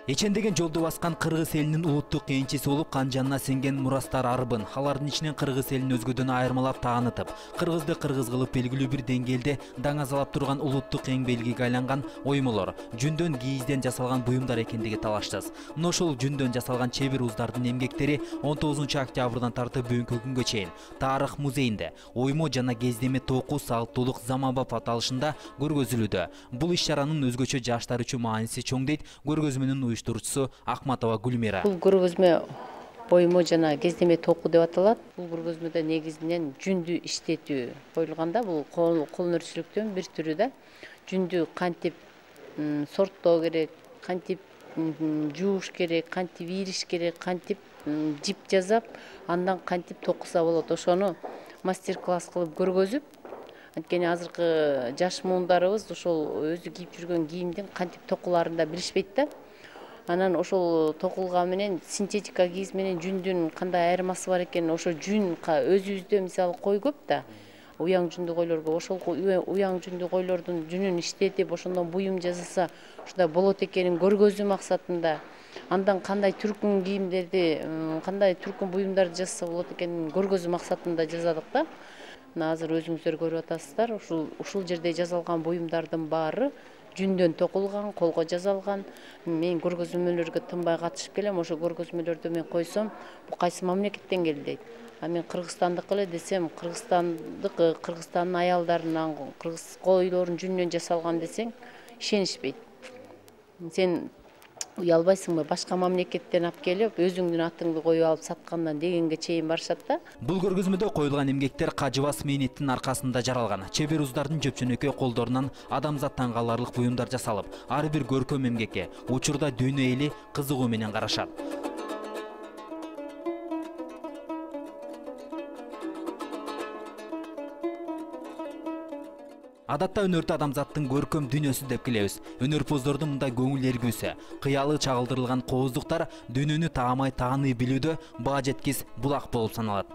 Эчендеген жолду баскан кыргыз элинин улуттук кийинчиси болуп канжанына сиңген мурастар арбын. Алардын ичинен кыргыз элин өзгөдөн айырмалап таанытып, кыргызды кыргыз кылып белгилүү бир деңгээлде даңазалап турган улуттук эң белгиге айланган оймолор, жүндөн кийизден жасалган буюмдар экендиги талашсыз. Мына ошол жүндөн жасалган чебир уздардын эмгектери 19 октябрдан тартып бүгүнкү күнгө чейин Тарых музейинде оймо жана кездеме токуу салттуулук заманбап аталышында көргөзүлүүдө. Бул иш-чаранын өзгөчө жаштар үчүн мааниси чоң дейт көргөзмөнүн уюштуруучусу Акматова Гүлмира. Бул көргөзмө оймо жана кездеме токуу деп аталат. Бул көргөзмөдө негизинен жүндү иштетүү коюлганда, бул кол өнөрчүлүктүн бир түрү да. Жүндү кантип сорттоо керек, кантип жууш керек, кантип ийриш керек, кантип жип жасап, андан кантип токуса болот. Ошону мастер-класс кылып көргөзүп, анткени азыркы жаш муундарыбыз ошол өзү кийип жүргөн кийимдин кантип токуларын да билишпейт да. Анан ошол токулган менен синтетика кийиз менен жүндүн кандай айырмасы бар экенин, ошо жүн өзүбүздө мисалы кой көп да. Уяң жүндүү койлорго ошол уяң жүндүү койлордун жүнүн иштетип, ошондон буюм жасаса, ушундай болот экенин көргөзүү максатында, андан кандай түркүн кийимдерди, кандай түркүн буюмдарды жасаса болот экенин көргөзүү максатында жасадык да. Мына азыр өзүңүздөр көрүп атасыздар, ушул жерде жасалган буюмдардын баары жүндөн токулган, колго жасалган. Мен көргөзмөлөргө тынбай катышып келем. Ошо көргөзмөлөрдө мен койсом, бул кайсы мамлекеттен келди дейт. А мен Кыргызстандык эле десем, Кыргызстандын аялдарынан, кыргыз койлорунун жүнүнөн жасалган десең, ишенишпейт. Сен уялбайсыңбы, башка мамлекеттен алып келип, өзүңдүн атыңды коюп алып саткандан дегенге чейин барышат да. Бул көргөзмөдө коюлган эмгектер кажыбас мээнеттин аркасында жаралган. Чебер уздардын жөпчөнөкөй колдорунан адамзат таң каларлык буюмдар жасалып, ар бир көркөм эмгекке учурда дүйнө эли кызыгуу менен карашат. Адатта өнөрдү адамзаттын көркөм дүйнөсү деп келебиз. Өнөрпоздордун мындай көңүл эргүүсү, кыялы чагылдырылган кооздуктар дүйнөнү таамай тааный билүүдө баа жеткис булак болуп саналат.